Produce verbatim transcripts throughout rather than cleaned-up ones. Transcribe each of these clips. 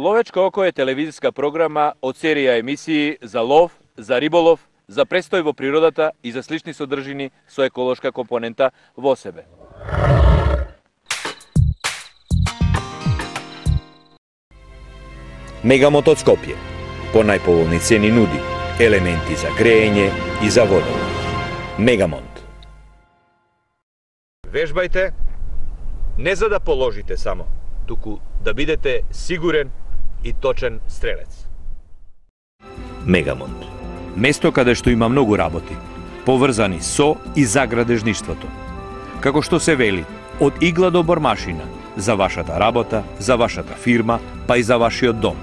Ловечко око е телевизиска програма од серија емисии за лов, за риболов, за престој во природата и за слични содржини со еколошка компонента во себе. Мегамонт од Скопје по најповолни цени нуди елементи за греење и за водолов. Мегамонт. Вежбајте не за да положите само, туку да бидете сигурен и точен стрелец. Мегамонт. Место каде што има многу работи, поврзани со и за градежништвото. Како што се вели, од игла до бормашина, за вашата работа, за вашата фирма, па и за вашиот дом.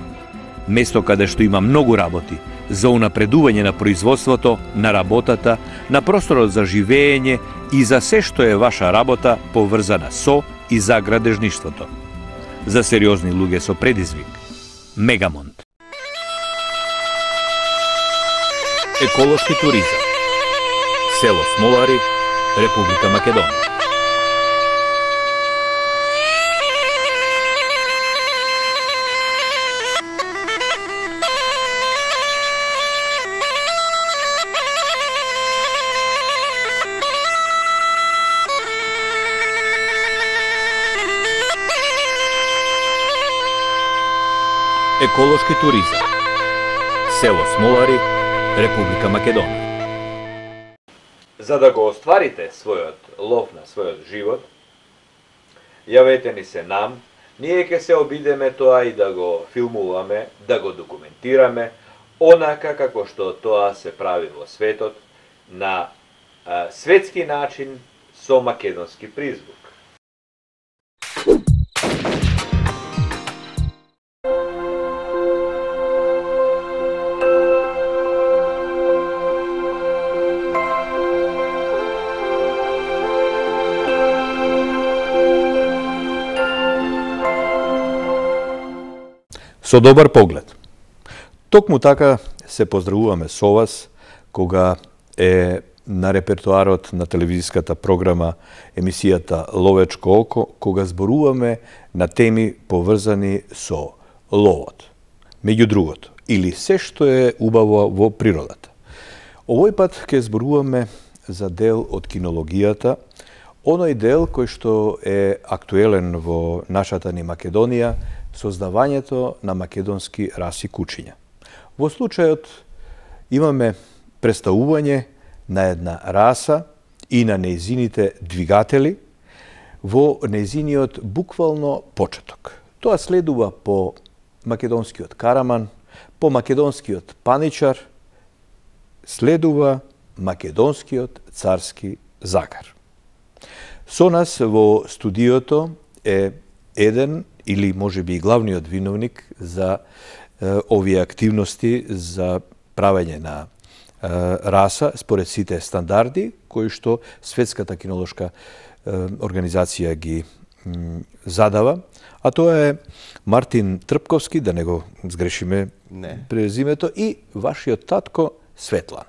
Место каде што има многу работи, за унапредување на производството, на работата, на просторот за живеење и за се што е ваша работа поврзана со и за градежништвото. За сериозни луѓе со предизвик. Мегамонт. Еколошки туризам. Село Смолари, Република Македонија. Еколошки туризам. Село Смолари, Република Македонија. За да го остварите својот лов на својот живот, јавете ни се нам, ние ќе се обидеме тоа и да го филмуваме, да го документираме, онака како што тоа се прави во светот, на а, светски начин со македонски призвук. Со добар поглед. Токму така се поздравуваме со вас кога е на репертоарот на телевизиската програма емисијата Ловечко око, кога зборуваме на теми поврзани со ловот. Меѓу другото, или се што е убаво во природата. Овој пат ќе зборуваме за дел од кинологијата, оној дел кој што е актуелен во нашата ни Македонија, создавањето на македонски раси кучиња. Во случајот имаме представување на една раса и на нејзините двигатели во нејзиниот буквално почеток. Тоа следува по македонскиот караман, по македонскиот паничар, следува македонскиот царски загар. Со нас во студиото е еден или може би и главниот виновник за е, овие активности за правење на е, раса според сите стандарди кои што Светската кинолошка е, организација ги м, задава, а тоа е Мартин Трпковски, да не го сгрешиме не. презимето, и вашиот татко Светлан.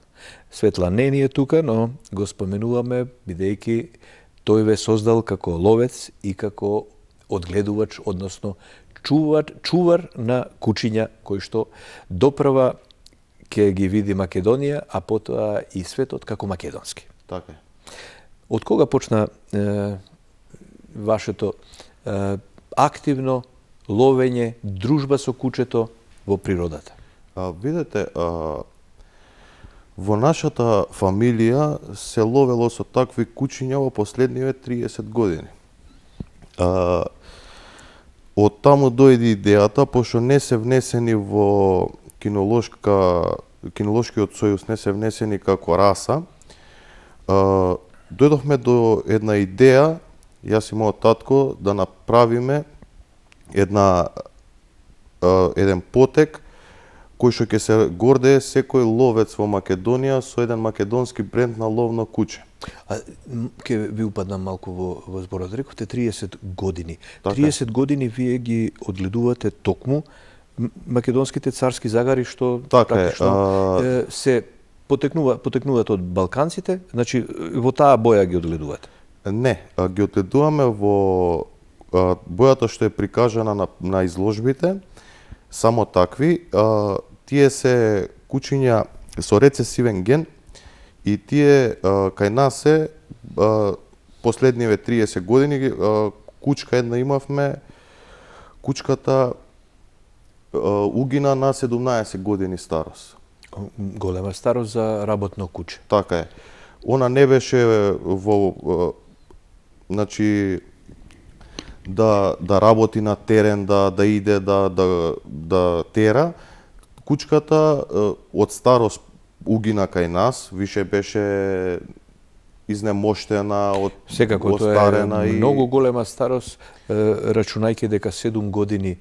Светлан не ни е тука, но го споменуваме бидејќи тој ве создал како ловец и како одгледувач, односно чувар, чувар на кучиња кои што допрва ќе ги види Македонија, а потоа и светот како македонски. Така е. Од кога почна е, вашето е, активно ловење, дружба со кучето во природата? А, видете, а, во нашата фамилија се ловело со такви кучиња во последниве триесет години. А, од таму дојде идејата, пошто не се внесени во кинолошка, кинолошкиот сојуз не се внесени како раса, а, дојдовме до една идеја, јас и мојот татко, да направиме една, а, еден потек кој што ќе се гордее секој ловец во Македонија со еден македонски бренд на ловно куче. А ќе ви упаднам малку во, во зборот. Рековте триесет години. Така. триесет години вие ги одгледувате токму македонските царски загари што така практично е, а... се потекнува потекнуваат од балканците, значи во таа боја ги одгледувате. Не, а, ги одгледуваме во а, бојата што е прикажана на, на изложбите, само такви, а, тие се кучиња со рецесивен ген и тие а, кај нас се а, последниве триесет години а, кучка една имавме, кучката а, угина на седумнаесет години старост. Голема старост за работно куче. Така е. Она не беше во, а, значи, да да работи на терен, да да иде да да да тера. Кучката од старост угина кај нас, више беше изнемоштена, од Секако тоа е и многу голема старост, рачунајќи дека седум години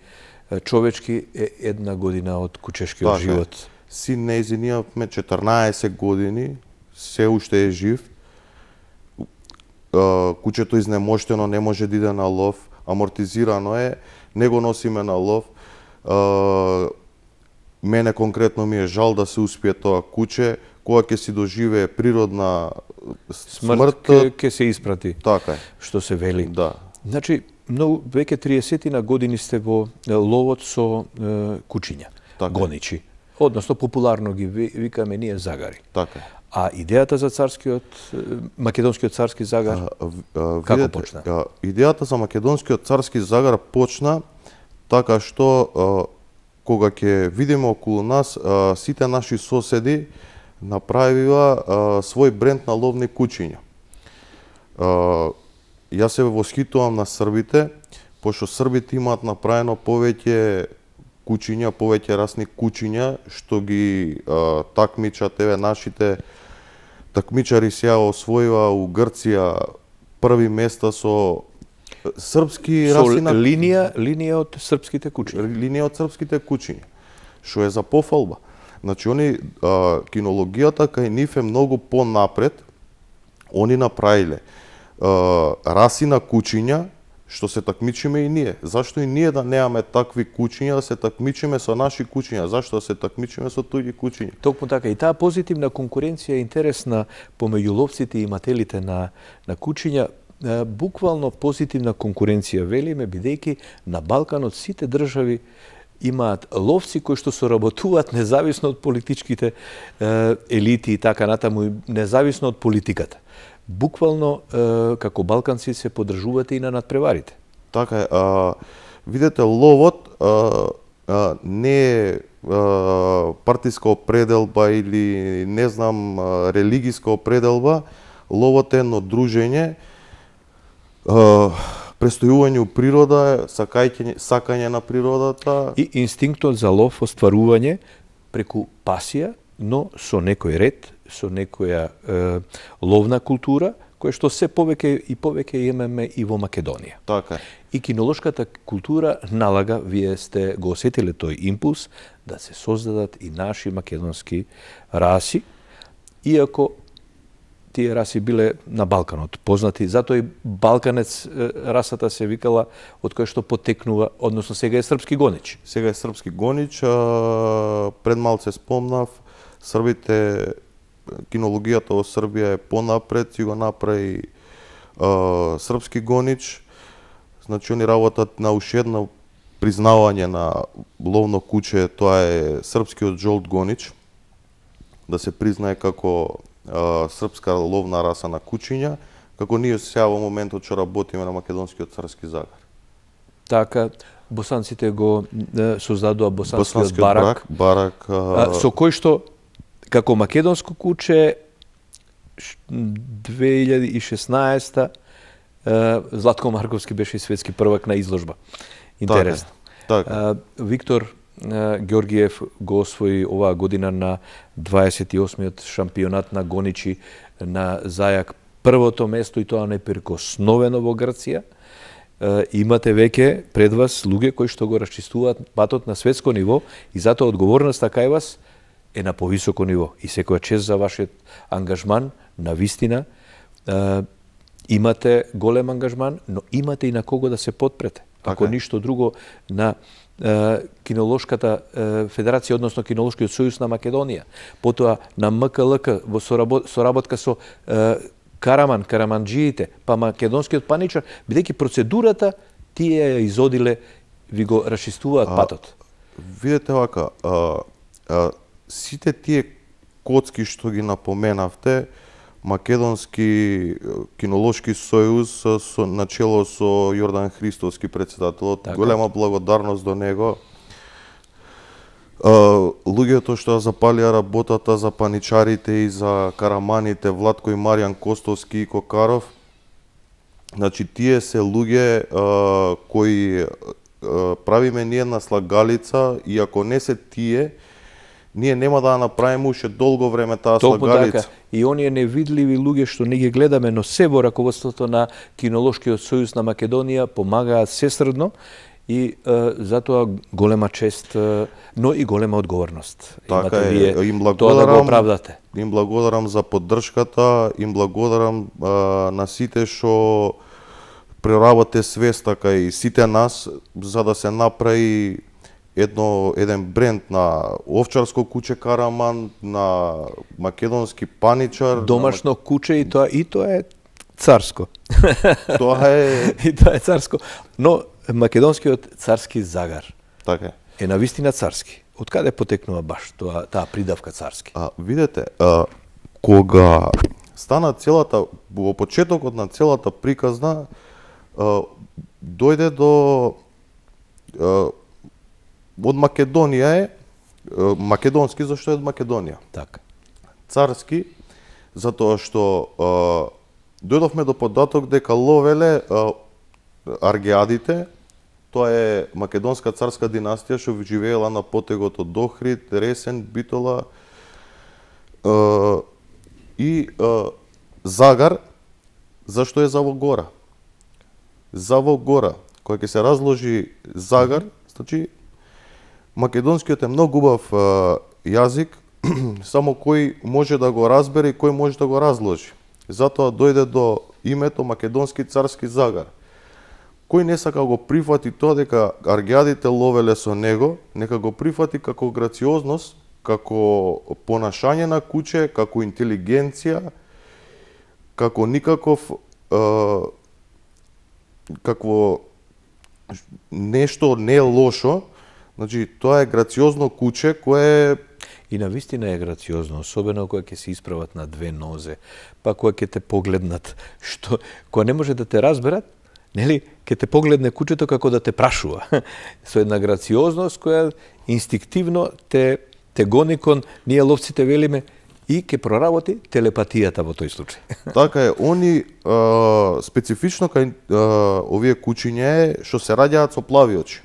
човечки е една година од кучешкиот така, живот. Син нејзиниот ме четрнаесет години, се уште е жив. Кучето изнемоштено, не може да иде на лов, амортизирано е, не го носиме на лов. Мене конкретно ми е жал да се успие тоа куче, кога ќе си доживее природна смрт, смрт ќе се испрати. Така е. Што се вели. Да. Значи, многу веќе триесет на години сте во ловот со е, кучиња, така, гоничи. Односно, популарно ги викаме ние загари. Така е. А идејата за царскиот, македонскиот царски загар, а, а, како видете, почна? А, идејата за македонскиот царски загар почна така што а, кога ќе видиме околу нас, а, сите наши соседи направила а, свој бренд на ловни кучиња. А, јас се восхитувам на србите, пошто србите имаат направено повеќе кучиња, повеќе расни кучиња, што ги а, такмичат, еве нашите такмичари сега освоива у Грција први места со српски Со раси на линија, линија од српските кучиња. линија од српските кучиња, што е за пофалба. Значи, они, а, кинологијата кај нив е многу понапред. Они направиле а, раси на кучиња, што се такмичиме и ние. Зашто и ние да немаме такви кучиња, да се такмичиме со наши кучиња? Зашто да се такмичиме со туѓи кучиња? Токму така. И таа позитивна конкуренција е интересна помеѓу ловците и имателите на, на кучиња. Буквално позитивна конкуренција, велиме, бидејќи на Балканот сите држави имаат ловци кои што соработуваат независно од политичките е, елити и така натаму, независно од политиката. Буквално, е, како балканци, се подржувате и на надпреварите. Така е. А, видете, ловот а, а, не е а, партиска определба или, не знам, а, религиска определба. Ловот е едно дружење, а, престојување у природа, сакање, сакање на природата. И инстинктот за лов, остварување преку пасија, но со некој ред, со некоја е, ловна култура, која што се повеќе и повеќе имаме и во Македонија. Така е. И кинолошката култура налага, вие сте го осетиле тој импулс, да се создадат и наши македонски раси, иако тие раси биле на Балканот познати, затоа и балканец расата се викала од која што потекнува, односно сега е српски гонич. Сега е српски гонич, а, пред малце спомнав, србите, кинологијата во Србија е понапред, си го направи а, српски гонич. Значи, они работат на уште едно признавање на ловно куче, тоа е српскиот жолт гонич, да се признае како а, српска ловна раса на кучиња, како ние сега во моментот што работиме на македонскиот царски загар. Така, босанците го е, создадоа босанскиот, Босанскиот барак, барак, барак а, со кој што како македонско куче две илјади и шеснаесета Златко Марковски беше светски првак на изложба. Интересно. Така, така. Виктор Ѓоргиев го освои оваа година на дваесет и осмиот шампионат на гоничи на зајак првото место, и тоа непрекосновено во Грција. Имате веќе пред вас луѓе кои што го расчистуваат патот на светско ниво, и затоа одговорноста кај вас е на повисоко ниво. И секоја чест за вашиот ангажман, на вистина. Е, имате голем ангажман, но имате и на кого да се подпрете. Ако така, ништо друго, на е, кинолошката е, федерација, односно кинолошкиот сојуз на Македонија. Потоа на М К Л К во соработ, соработка со е, Караман, караманџиите, па македонскиот паничар, бидејќи процедурата тие ја изодиле, ви го расчистуваат а, патот. Видете вака, а, а, сите тие коцки што ги напоменавте, Македонски кинолошки сојуз со начело со Јордан Христовски председателот, така. Голема благодарност до него. Uh, луѓето што запалија работата за паничарите и за караманите, Владко и Маријан Костовски и Кокаров, значи тие се луѓе uh, кои uh, правиме ние една слагалица и ако не се тие, ние нема да направиме уште долго време таа слагалица. Така. И оние невидливи луѓе што не ги гледаме, но се во раководството на Кинолошкиот сојуз на Македонија помагаат сесрдно. И е, затоа голема чест, е, но и голема одговорност. Така Имате е, вие им тоа да го оправдате. Им благодарам за поддршката, им благодарам а, на сите што преработе свеста кај сите нас за да се направи едно еден бренд на овчарско куче Караман, на македонски паничар, домашно на... куче и тоа и тоа е царско. Тоа е и тоа е царско. Но македонскиот царски загар така е навистина царски. Од каде потекнува баш тоа таа придавка царски? А видете, а, кога стана целата во почетокот на целата приказна, а, дојде до а, од Македонија е а, македонски зашто е од Македонија. Така. Царски затоа што а, дојдовме до податок дека ловеле а, аргеадите. Тоа е македонска царска династија што живеела на потегот од Охрид, Ресен, Битола е, и е, Загар. Зашто е за во гора? За во гора, кога ќе се разложи Загар, значи македонскиот е многу убав е, јазик, само кој може да го разбере и кој може да го разложи. Затоа дојде до името Македонски царски Загар. Кој не сака го прифати тоа дека аргеадите ловеле со него, нека го прифати како грациозност, како понашање на куче, како интелигенција, како никаков е, какво нешто не е лошо. Значи тоа е грациозно куче кое и навистина е грациозно, особено кога ќе се исправат на две нозе, па кога ќе те погледнат, што кога не може да те разберат, нели, ќе те погледне кучето како да те прашува. Со една грациозност која инстинктивно те, те гони кон, ние ловците велиме, и ќе проработи телепатијата во тој случај. Така е, они а, специфично кај а, овие кучиња е што се раѓаат со плави очи.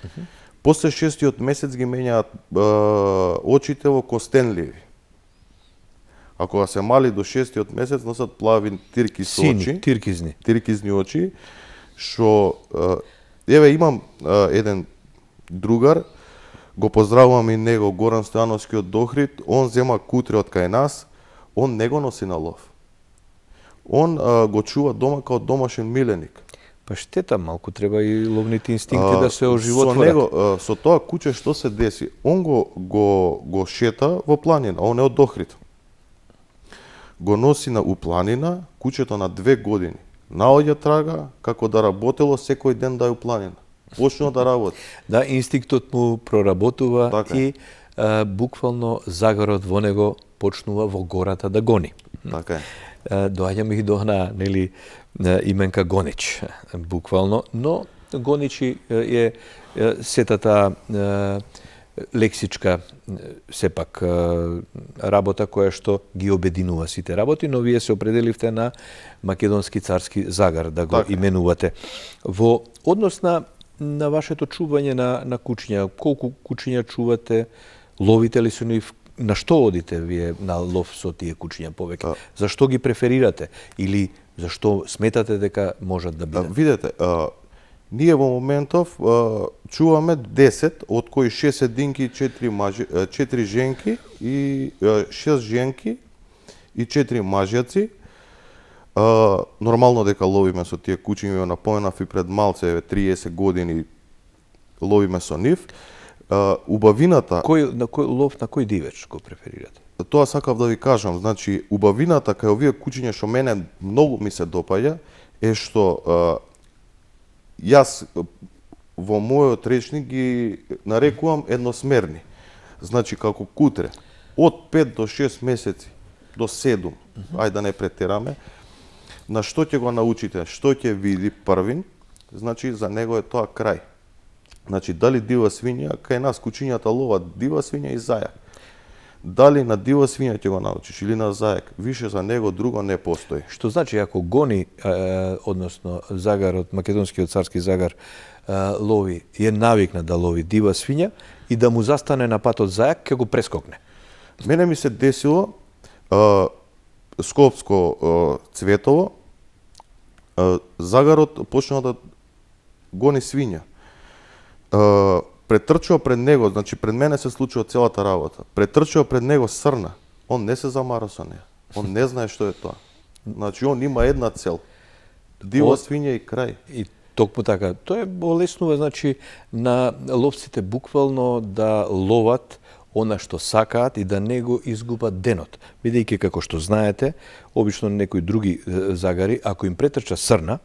Uh -huh. После шестиот месец ги менјаат а, очите во костенливи. А кога се мали до шестиот месец носат плави тирки со очи. Сини, тиркизни. Тиркизни очи, што еве имам а, еден другар, го поздравувам и него, Горан Стојановски од Охрид, он зема кутре од кај нас, он не го носи на лов. Он а, го чува дома као домашен миленик. Па штета, малку треба и ловните инстинкти а, да се оживотворат. Со него, а, со тоа куче што се деси? Он го, го, го шета во планина, он е од Охрид. Го носи на упланина, кучето на две години. Наоѓа трага како да работело секој ден да е упланина. Почнува да работи. Да, инстинктот му проработува така. И а, буквално загарот во него почнува во гората да гони. Така е. Доаѓаме и до на, нели, именка Гонич, буквално, но Гоничи е, е сетата е, лексичка сепак работа која што ги обединува сите работи, но вие се определивте на Македонски царски Загар да го така. Именувате. Во однос на, на вашето чување на, на кучиња, колку кучиња чувате, ловите ли со нив, на што одите вие на лов со тие кучиња повеќе? Зашто ги преферирате или зашто сметате дека можат да бидат? Видете, а, ние во моментов а, чуваме десет, од кои шест единки и четири мажи, четири женки и а, шест женки и четири мажјаци. А, нормално дека ловиме со тие кучиња, напоменав и пред малце, триесет години ловиме со нив. Uh, убавината... Кој, на кој лов, на кој дивеч го преферирате? Тоа сакав да ви кажам. Значи, убавината кај овие кучиња што мене многу ми се допаѓа е што uh, јас во мојот речник ги нарекувам едносмерни. Значи, како кутре, од пет до шест месеци, до седум, uh -huh. ајде да не претераме, на што ќе го научите, што ќе види првин, значи, за него е тоа крај. Значи, дали дива свиња, кај нас кучињата ловат дива свиња и зајак. Дали на дива свиња ќе го научиш или на зајак, више за него друго не постои. Што значи, ако гони, е, односно, загарот, македонскиот царски загар, е, лови, е навикнат да лови дива свиња и да му застане на патот зајак, ќе го прескокне? Мене ми се десило, е, Скопско е, Цветово, е, загарот почнал да гони свиња. Uh, претрчува пред него, значи пред мене се случува целата работа. Претрчува пред него срна. Он не се замара со неја. Он не знае што е тоа. Значи он има една цел. Дива свиња и крај. И токму така. Тоа е болеснува, значи, на ловците буквално да ловат она што сакаат и да не го изгубат денот. Бидејќи, како што знаете, обично некои други загари, ако им претрча срна,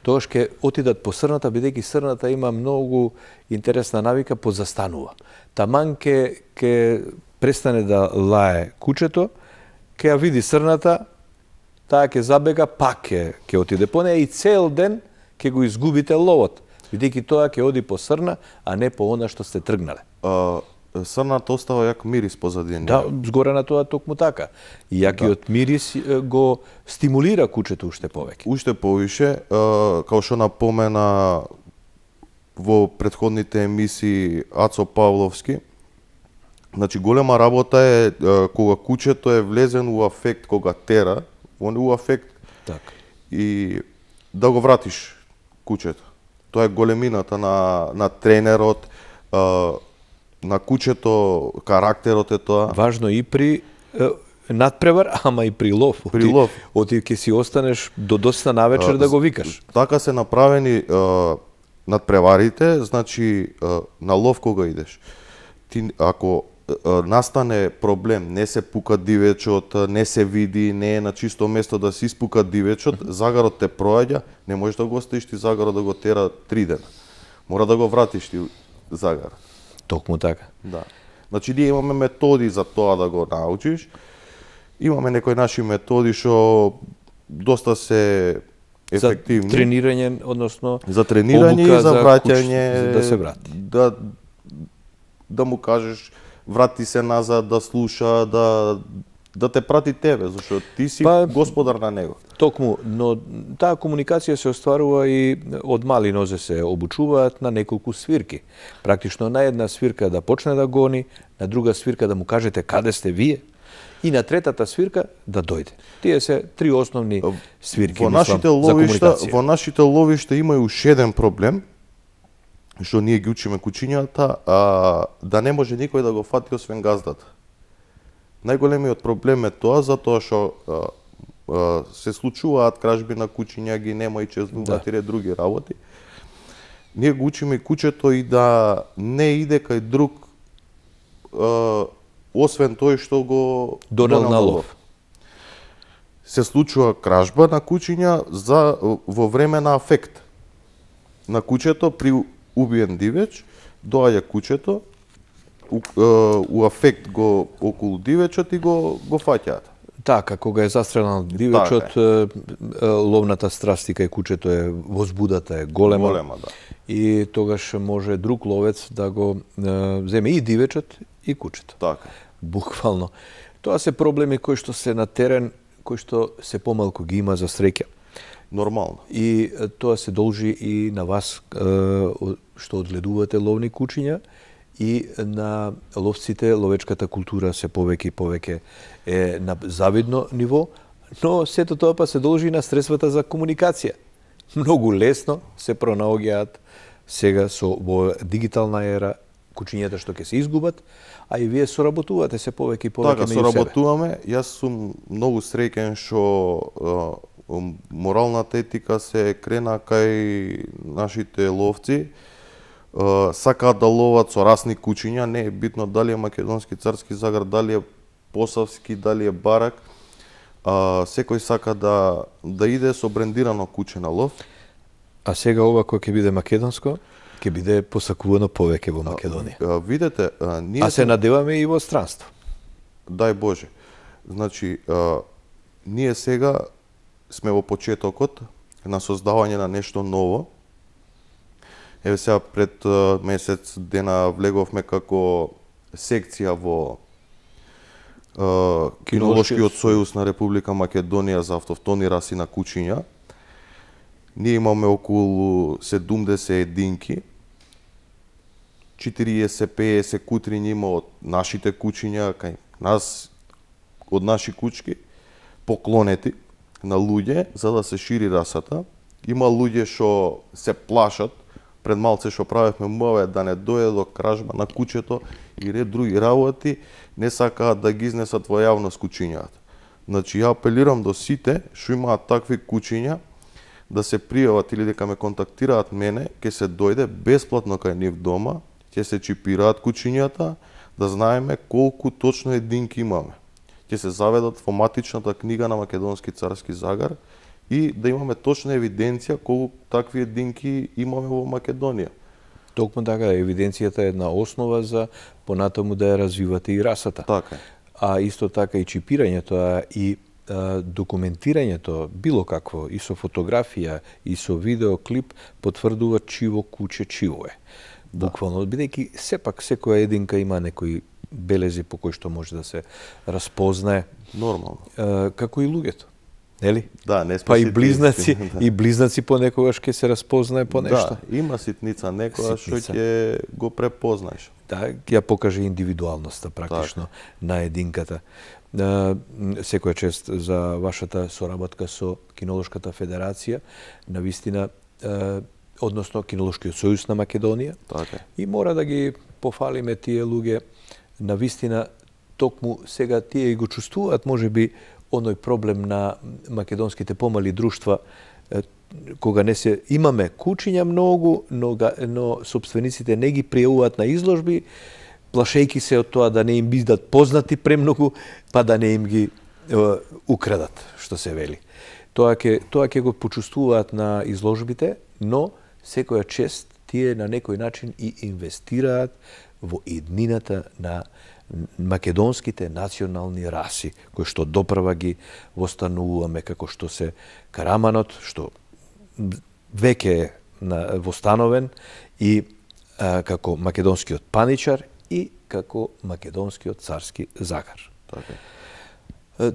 тогаш ќе отидат по срната, бидејќи срната има многу интересна навика, позастанува. Таман ќе ќе престане да лае кучето, ќе ја види срната, таа ќе забега, пак ќе ќе отиде по неја и цел ден ќе го изгубите ловот, бидејќи тоа ќе оди по срна, а не по она што сте тргнале. Uh... Срната остава јак мирис позади неја. Да, згоре на тоа токму така. И јакиот да. мирис го стимулира кучето уште повеќе. Уште повише, као што напомена во претходните емисии Ацо Павловски, значи голема работа е кога кучето е влезен у афект, кога тера, он е у афект. Така. И да го вратиш кучето. Тоа е големината на на тренерот, на кучето, карактерот е тоа. Важно и при е, надпревар, ама и при лов. При лов. Оти ќе си останеш до доста навечер а, да го викаш. Така се направени а, надпреварите, значи а, на лов кога идеш. Ти ако а, настане проблем, не се пука дивечот, не се види, не е на чисто место да се испука дивечот, загарот те проаѓа, не можеш да го оставиш ти загарот да го тера три дена. Мора да го вратиш ти загарот. Токму така. Да. Значи, ние имаме методи за тоа да го научиш. Имаме некои наши методи што доста се ефективни. За тренирање, односно за тренирање и за враќање, за да се врати. Да, да му кажеш врати се назад, да слуша, да да те прати тебе, зашто ти си па, господар на него. Токму, но таа комуникација се остварува и од мали нозе се обучуваат на неколку свирки. Практично на една свирка да почне да гони, на друга свирка да му кажете каде сте вие и на третата свирка да дојде. Тие се три основни свирки, во нашите мислам, ловишта, за во нашите ловишта има и уште еден проблем што ние ги учиме кучињата, а да не може никој да го фати освен газдата. Најголемиот проблем е тоа затоа што се случуваат кражби на кучиња, ги нема и чезнуваат да. и други работи. Ние го учиме и кучето и да не иде кај друг а, освен тој што го донел на лов. Се случува кражба на кучиња за во време на афект. На кучето при убиен дивеч доаѓа кучето у, у афект го околу дивечот и го го фаќаат. Така, кога е застрелан дивечот, така е. Ловната страст и кај кучето е возбудата е голема. Голема, да. И тогаш може друг ловец да го е, земе и дивечот и кучето. Така. Буквално. Тоа се проблеми кои што се на терен, кои што се помалку ги има за среќа. Нормално. И тоа се должи и на вас што одгледувате ловни кучиња и на ловците. Ловечката култура се повеќе и повеќе е на завидно ниво, но сето тоа па се должи и на средствата за комуникација. Многу лесно се пронаоѓаат сега со во дигитална ера кучињата што ќе се изгубат, а и вие соработувате се повеќе и повеќе така, меѓу себе. Така, соработуваме. Јас сум многу среќен што моралната етика се крена кај нашите ловци. Сакаат да ловат со расни кучиња, не е битно дали е македонски царски загар, дали е посавски, дали е барак. Секој сака да да иде со брендирано куче на лов. А сега ова кој ќе биде македонско, ќе ќе биде посакувано повеќе во Македонија. А, видете, а, ние А се надеваме и во странство. Дај Боже. Значи, а, ние сега сме во почетокот на создавање на нешто ново. Еве сега пред а, месец дена влеговме како секција во а, Кинолошкиот сојуз на Република Македонија за автохтони раси на кучиња. Ние имаме околу седумдесет единки, четириесет пеесет кутриња има од нашите кучиња, кај нас, од наши кучки, поклонети на луѓе, за да се шири расата. Има луѓе што се плашат, пред малце што правевме муаве да не дојде до кражба на кучето и ред други работи, не сакаат да ги изнесат во јавност кучињата. Значи, ја апелирам до сите што имаат такви кучиња, да се пријават или дека ме контактираат мене, ќе се дојде бесплатно кај нив дома, ќе се чипираат кучињата, да знаеме колку точно единки имаме. Ќе се заведат во матичната книга на Македонски царски загар и да имаме точна евиденција колку такви единки имаме во Македонија. Токму така, евиденцијата е една основа за понатаму да ја развивате и расата. Така. А исто така и чипирањето, а и а, документирањето, било какво, и со фотографија, и со видеоклип, потврдува чиво куче чиво е. Буквално, бидејќи сепак секоја единка има некои белези по кои што може да се распознае. Нормално. А, како и луѓето. Нели? Да, не сме па и ситници, близнаци, да. и близнаци понекогаш ќе се распознае по нешто. Да, има ситница некоја што Ситница. ќе го препознаеш. Да, ја покаже индивидуалноста практично Так. на единката. А, секоја чест за вашата соработка со Кинолошката федерација, навистина, а, односно Кинолошкиот сојуз на Македонија. Така. И мора да ги пофалиме тие луѓе, навистина токму сега тие и го чувствуваат можеби оној проблем на македонските помали друштва, е, кога не се имаме кучиња многу, но, га, но собствениците не ги пријавуваат на изложби, плашејки се од тоа да не им бидат познати премногу, па да не им ги е, украдат, што се вели. Тоа ќе тоа ќе го почувствуваат на изложбите, но секоја чест тие на некој начин и инвестираат во иднината на македонските национални раси, кои што доправа ги востануваме, како што се Караманот, што веќе е на, востановен, и а, како македонскиот паничар и како македонскиот царски загар. Така.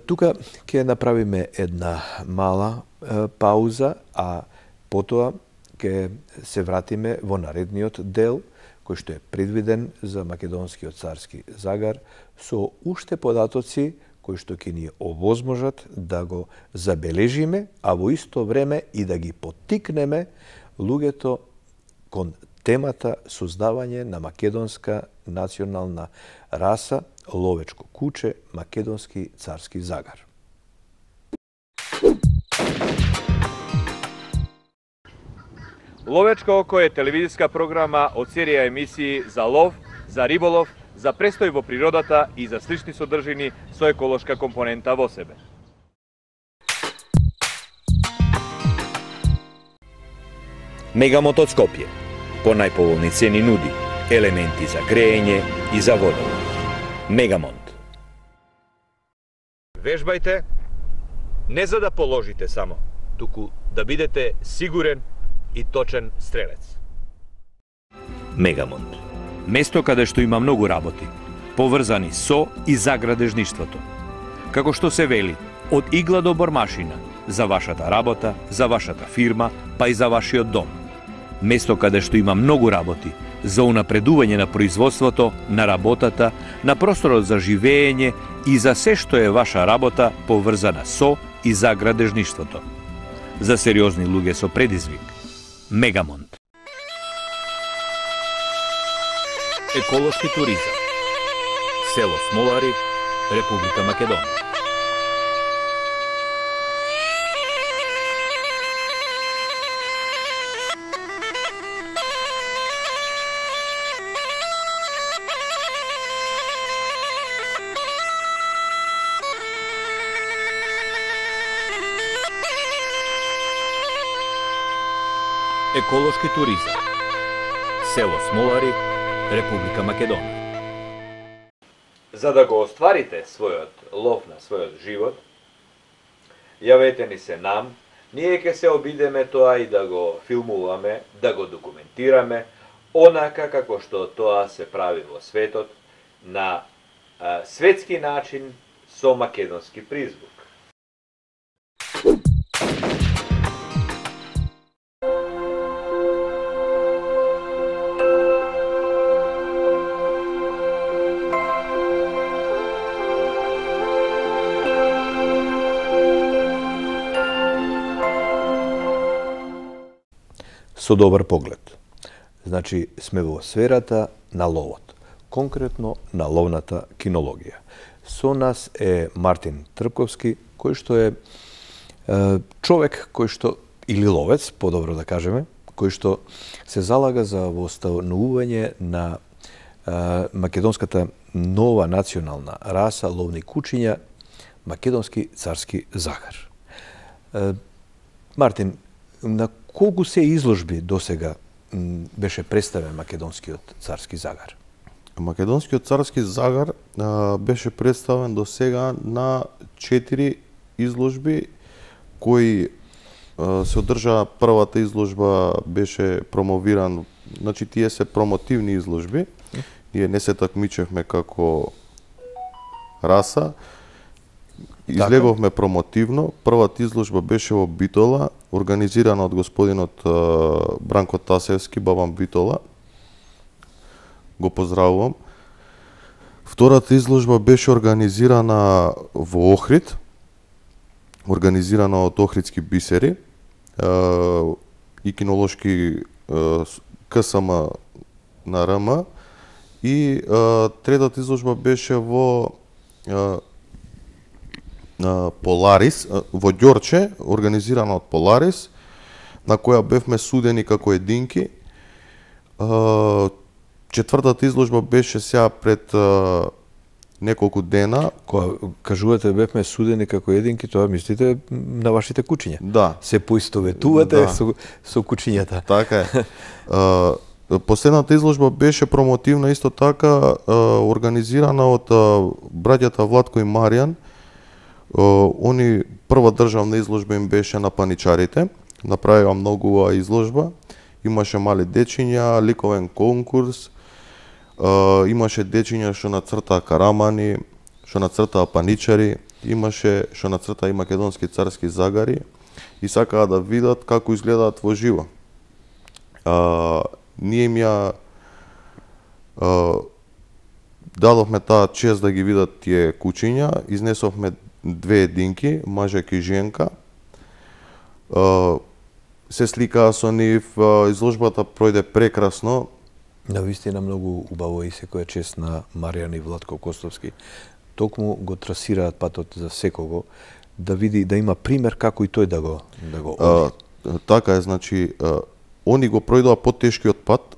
Тука ќе направиме една мала а, пауза, а потоа ќе се вратиме во наредниот дел, кој што е предвиден за македонскиот царски загар, со уште податоци кои што ќе ни овозможат да го забележиме, а во исто време и да ги поттикнеме луѓето кон темата создавање на македонска национална раса, ловечко куче, македонски царски загар. Ловечко око е телевизиска програма од серија емисии за лов, за риболов, за престој во природата и за слични содржини со еколошка компонента во себе. Мегамонт од Скопје по најповолни цени нуди елементи за грејење и за водолов. Мегамонт. Вежбајте не за да положите само, туку да бидете сигурен и точен стрелец. Мегамонт. Место каде што има многу работи, поврзани со и за градежништвото. Како што се вели, од игла до бормашина, за вашата работа, за вашата фирма, па и за вашиот дом. Место каде што има многу работи, за унапредување на производството, на работата, на просторот за живење и за се што е ваша работа поврзана со и за градежништвото. За сериозни луѓе со предизвик. Мегамонт. Еколошки туризам. Село Смолари, Република Македонија. Еколошки туризам. село Смолари, Република Македонија. За да го остварите својот лов на својот живот, јавете ни се нам, ние ќе се обидеме тоа и да го филмуваме, да го документираме, онака како што тоа се прави во светот, на а, светски начин со македонски призвук. Со добар поглед. Значи, сме во сферата на ловот, конкретно на ловната кинологија. Со нас е Мартин Трпковски, кој што е, е човек кој што, или ловец, подобро да кажеме, кој што се залага за востановување на е, македонската нова национална раса ловни кучиња, македонски царски загар. Е, Мартин, на колку се изложби досега беше представен македонскиот царски загар? Македонскиот царски загар а, беше представен до сега на четири изложби кои а, се одржаа. Првата изложба беше промовиран, значи тие се промотивни изложби. Ние не се такмичевме како раса, излеговме промотивно. Првата изложба беше во Битола, организирана од господинот Бранко Тасевски, Бабан Битола. Го поздравувам. Втората изложба беше организирана во Охрид, организирана од Охридски бисери и кинолошки КСМ на РМ. И третата изложба беше во Поларис, во Ѓорче, организирана од Поларис, на која бевме судени како единки. Четвртата изложба беше сега пред неколку дена. Кога кажувате бевме судени како единки, тоа мислите на вашите кучиња? Да. Се поистоветувате да. со, со кучињата. Така е. Последната изложба беше промотивна исто така, организирана од браќата Владко и Маријан. Они прва државна изложба им беше на паничарите. Направила многу изложба. Имаше мали дечиња, ликовен конкурс, имаше дечиња што нацртаа карамани, што нацртаа паничари, имаше што нацртаа и македонски царски загари и сакаа да видат како изгледаат во живо. А, ние им ја а, дадовме таа чест да ги видат тие кучиња, изнесовме две единки, мажек и женка. А, се сликаа со нив, изложбата пројде прекрасно. Навистина многу убаво и секоја чест на Маријан и Владко Костовски. Токму го трасираат патот за секого да види, да има пример како и тој да го да го оди. А, така е, значи а, они го пројдоа потешкиот пат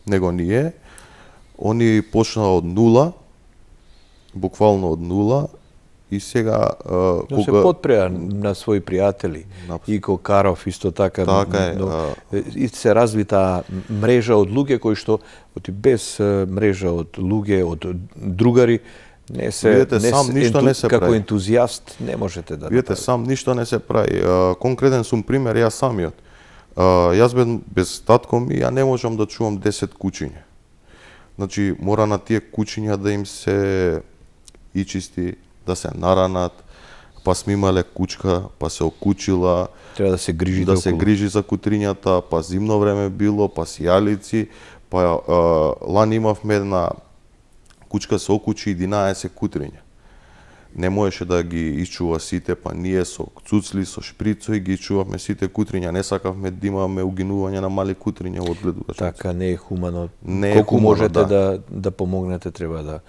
него ние. Они почнаа од нула, буквално од нула. И сега а, но кога... се подпреа на своји пријатели. Напс... Ико Каров исто така, така е, но, а... и се развита мрежа од луѓе кои што без мрежа од луѓе, од другари не се видете, не сам се, ништо енту... не се како прави. ентузијаст не можете да видите, направите. сам ништо не се прави. А, конкретен сум пример јас самиот. А, јас бен без татко ми, ја не можам да чувам десет кучиња. Значи мора на тие кучиња да им се и чисти, да се наранат, па сме имале кучка, па се окучила, треба да се грижи да околу. се грижи за кутрињата, па зимно време било, па сијалици, па а, лани имавме една кучка се окучи единаесет кутриња. Не можеше да ги исчува сите, па ние со цуцли, со шприцои ги исчувавме сите кутриња, не сакавме да имаме угинување на мали кутриња од гледувачот. Така не е хумано. Не е Колку хумано, можете да. да да помогнете, треба да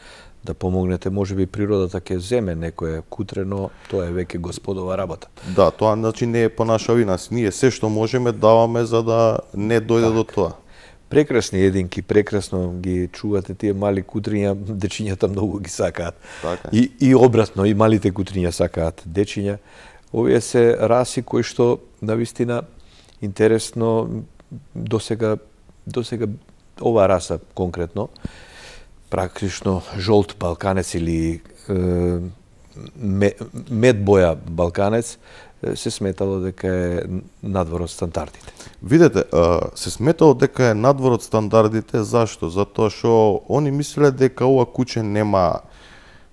да помогнете, можеби природата ќе земе некое кутрено, тоа е веќе господова работа. Да, тоа значи не е по наша вина, ние се што можеме даваме за да не дојде так. до тоа. Прекрасни единки, прекрасно ги чувате тие мали кутриња, дечињата многу ги сакаат. Така. И и обратно, и малите кутриња сакаат дечиња. Овие се раси кои што навистина интересно досега досега ова раса конкретно, практично жолт балканец или е, медбоја балканец, се сметало дека е надвор од стандардите. Видете, се сметало дека е надвор од стандардите, зашто? Затоа што они мислеле дека ова куче нема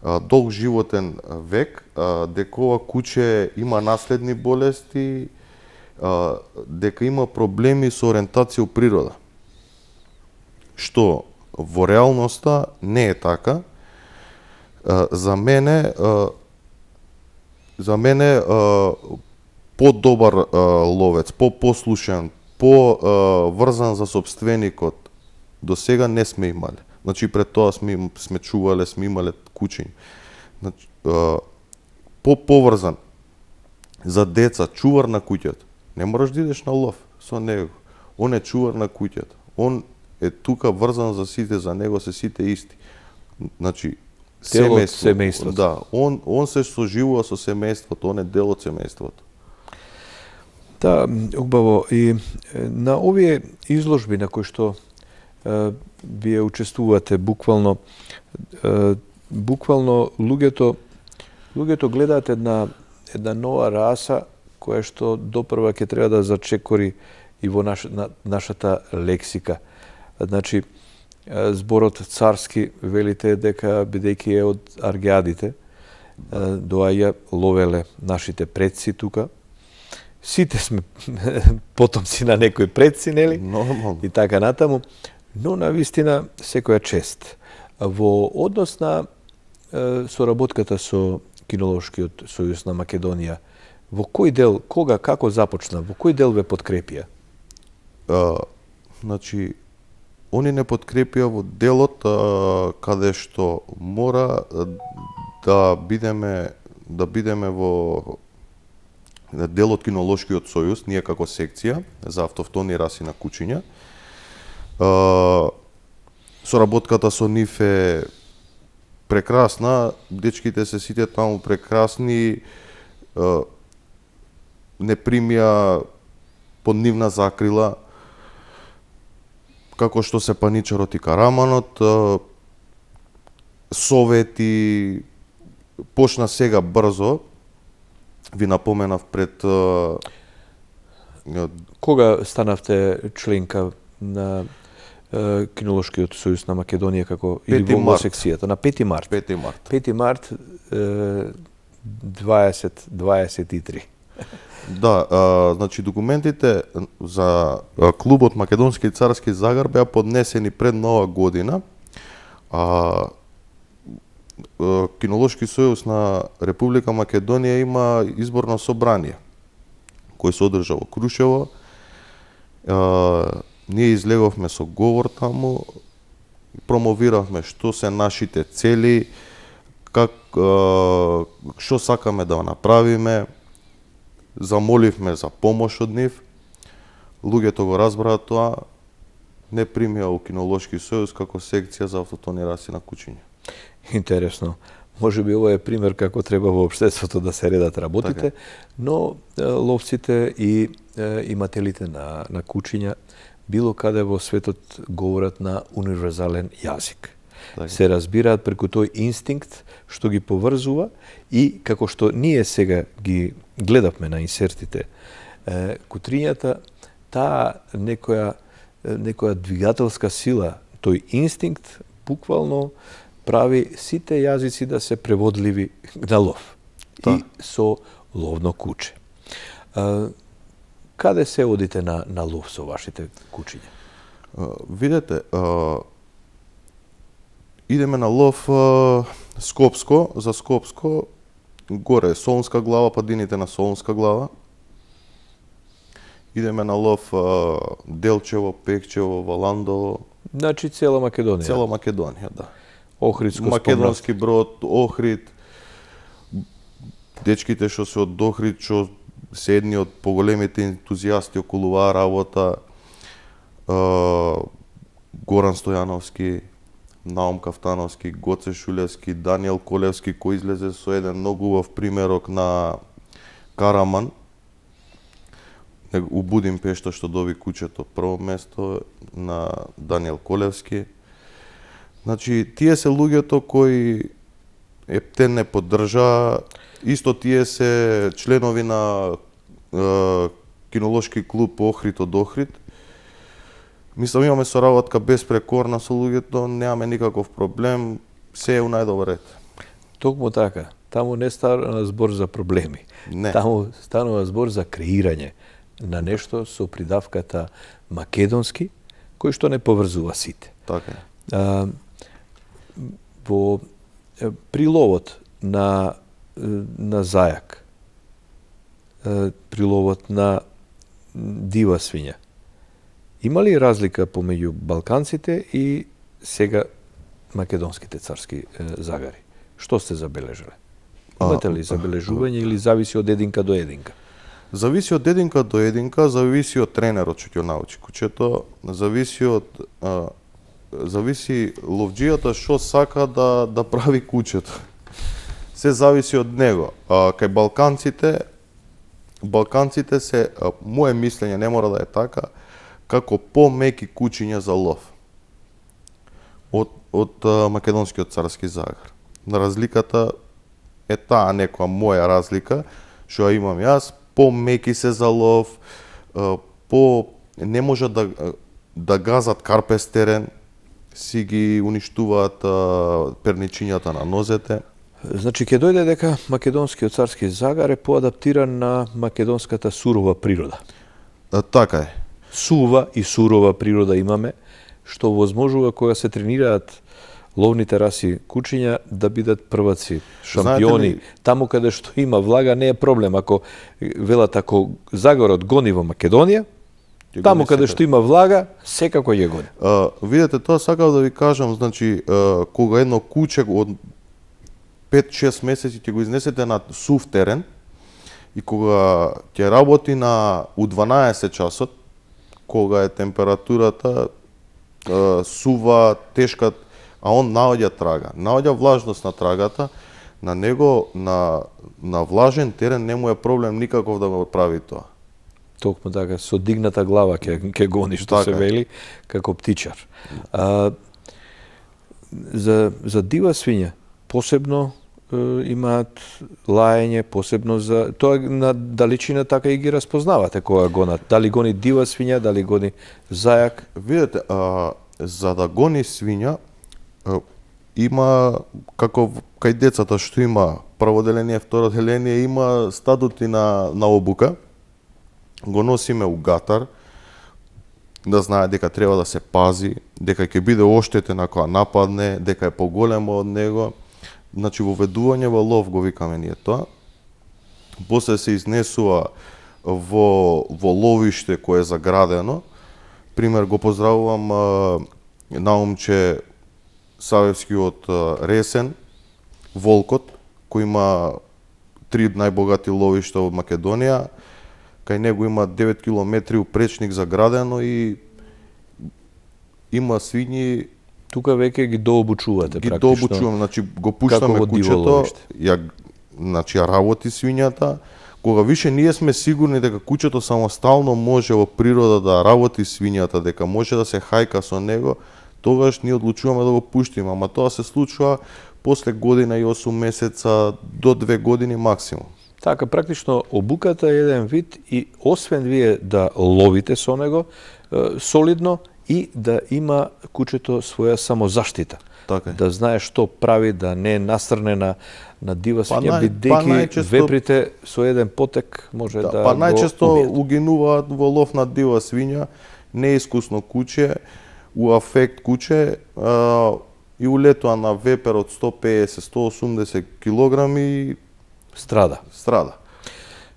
долг животен век, дека ова куче има наследни болести, дека има проблеми со ориентација у природа. Што во реалноста не е така. За мене за мене по-добар ловец, по-послушен, по-врзан за собственикот до сега не сме имале. Значи пред тоа сме сме чувале, сме имале кучиња. Значи по-поврзан за деца, чувар на куќето. Не мораш да идеш на лов со него. Он е чувар на куќето. Он е тука врзан за сите, за него се сите исти. Значи дел од семејството. Да, он он се соживува со семејството, он е дел од семејството. Да, убаво. И на овие изложби на кои што е, вие учествувате, буквално е, буквално луѓето луѓето гледаат една една нова раса која што допрва ќе треба да зачекори и во наш, на, нашата лексика. Значи, зборот царски, велите дека бидејќи е од аргиадите, доаѓа, ловеле нашите предци тука. Сите сме потомци на некои предци, нели? Нормално. И така натаму. Но на вистина секоја чест. Во однос на е, соработката со Кинолошкиот сојуз на Македонија, во кој дел, кога, како започна, во кој дел ве подкрепија? А, значи, они не подкрепија во делот а, каде што мора да бидеме да бидеме во делот Кинолошкиот сојуз, ние како секција за автохтони раси на кучиња. А, соработката со нив е прекрасна, дечките се сите таму прекрасни, а, не примија под нивна закрила, како што се паничарот и караманот, совети, почна сега брзо, ви напоменав пред... Кога станавте членка на Кинолошкиот сојуз на Македонија како или во секцијата? На пети март. пети март. пети март дваесет дваесет и три. Да, а, значи документите за клубот Македонски и Царски Загар беа поднесени пред нова година. А, Кинолошки сојуз на Република Македонија има изборно собрание кој се одржа во Крушево. А, ние излеговме со говор таму, промовиравме што се нашите цели, как а, што сакаме да направиме. Замоливме за помош од нив. Луѓето го разбраа тоа, не примија у Кинолошки сојуз како секција за автохтони раси на кучиња. Интересно. Може би ова е пример како треба во општеството да се редат работите, така. Но е, ловците и е, имателите на, на кучиња било каде во светот говорат на универзален јазик. така. Се разбираат преку тој инстинкт што ги поврзува и како што ние сега ги гледавме на инсертите, е, кутрињата, таа некоја, некоја двигателска сила, тој инстинкт буквално прави сите јазици да се преводливи на лов. Да. И со ловно куче. А, каде се одите на, на лов со вашите кучиња? А, видете, а, идеме на лов а, Скопско, за Скопско, горе Солунска глава, падините на Солунска глава. Идеме на лов а, Делчево, Пекчево, Валандово. Значи цела Македонија. Цела Македонија, да. Охридско Македонски Брод, Охрид, дечките што се од Охрид, што се едни од поголемите ентузијасти околу оваа работа, Горан Стојановски, Наум Кафтановски, Гоце Шулевски, Даниел Колевски, кој излезе со еден многу убав примерок на караман. у Будимпешта што доби кучето прво место на Даниел Колевски. Значи, тие се луѓето кои Ептен не поддржа, исто тие се членови на е, кинолошки клуб Охрид од Охрид. Мислам, имаме соработка безпрекорна со луѓето, немаме никаков проблем, се е у најдобар ред. Токму така. Таму не става збор за проблеми. Не. Таму станува збор за креирање на нешто со придавката македонски, кој што не поврзува сите. Така е. А, во приловот на на зајак, приловот на дива свиња, има ли разлика помеѓу балканците и сега македонските царски загари? Што сте забележале? Имате ли забележување или зависи од единка до единка? Зависи од единка до единка, зависи од тренерот што ќе научи кучето, зависи од а, зависи ловџијата што сака да да прави кучето. Се зависи од него. А, кај балканците, балканците се, а, мое мислење не мора да е така, како помеки кучиња за лов од од а, македонскиот царски загар. На разликата е таа некоја моја разлика, што ја имам јас, помеки се за лов, по не можат да да газат карпес терен, си ги уништуваат перничињата на нозете. Значи ќе дојде дека македонскиот царски загар е поадаптиран на македонската сурова природа. А, така е. Сува и сурова природа имаме, што возможува кога се тренираат ловните раси кучиња да бидат прваци, шампиони. Ли... Таму каде што има влага не е проблем. Ако велат, ако загорот гони во Македонија, Ке таму каде што има влага, секако ќе гони. А, видете, тоа сакав да ви кажам, значи, а, кога едно куче од пет-шест месеци ќе го изнесете на сув терен и кога ќе работи на у дванаесет часот, кога е температурата а, сува, тешка, а он наоѓа трага, наоѓа влажност на трагата, на него, на, на влажен терен не му е проблем никаков да го прави тоа. Токму така, со дигната глава ќе ќе гони, што така се вели, како птичар. А, за, за дива свиња, посебно е, имаат лаење, посебно за... Тоа на далечина така и ги распознавате кога гонат. Дали гони дива свиња, дали гони зајак? Видете, а, за да гони свиња, има, како кај децата што има прво деление, второ деление, има стадути на, на обука, го носиме у гатар, да знае дека треба да се пази, дека ќе биде оштетен ако нападне, дека е поголемо од него. Значи, воведување во лов го викаме ние тоа. После се изнесува во, во ловиште кое е заградено. Пример, го поздравувам а, Наумче Савевски од Ресен, Волкот, кој има три најбогати ловишта од Македонија. Кај него има девет километри упречник заградено и има свињи. Тука веќе ги дообучувате ги практично. Ги дообучувам, значи го пуштаме кучето, ја значи ја работи свињата. Кога више ние сме сигурни дека кучето самостално може во природа да работи свињата, дека може да се хајка со него, тогаш ние одлучуваме да го пуштиме, ама тоа се случува после година и осум месеца до две години максимум. Така, практично обуката е еден вид и освен вие да ловите со него е, солидно и да има кучето своја самозаштита. Така е. Да знае што прави, да не е насрне на, на дива свиња, па, бидејќи па најчесто... веприте со еден потек може да, да па најчесто го убијат. угинуваат во лов на дива свиња, неискусно куче, у афект куче, а, и улетува на вепер од сто пеесет до сто осумдесет килограми страда. Страда.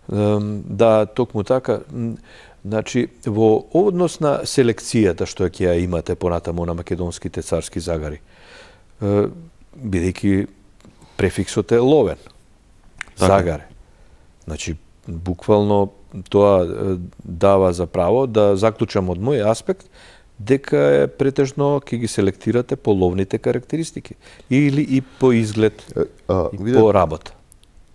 Да, токму така. Значи, во однос на селекцијата што ќе ја имате понатаму на македонските царски загари, бидејќи префиксот е ловен, така. загаре. Значи, буквално тоа дава за право да заклучам од мој аспект дека е претежно ќе ги селектирате по ловните карактеристики или и по изглед а, и видет, по работа.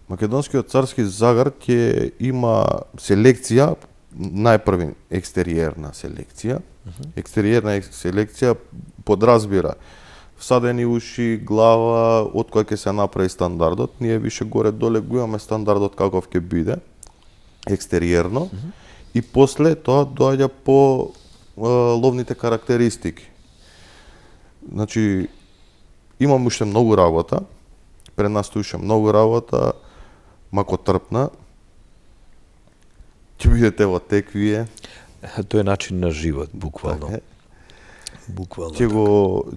Македонскиот царски загар ќе има селекција најпрви екстериерна селекција. Екстериерна селекција подразбира всадени уши, глава, од која ќе се направи стандардот. Ние више горе доле го имаме стандардот каков ќе биде екстериерно. Mm -hmm. И после тоа доаѓа по е, ловните карактеристики. Значи, имам уште многу работа, пред нас уште многу работа, макотрпна. Ќе бидете во тек вие. Тоа е начин на живот, буквално. Така, буквално. Ќе го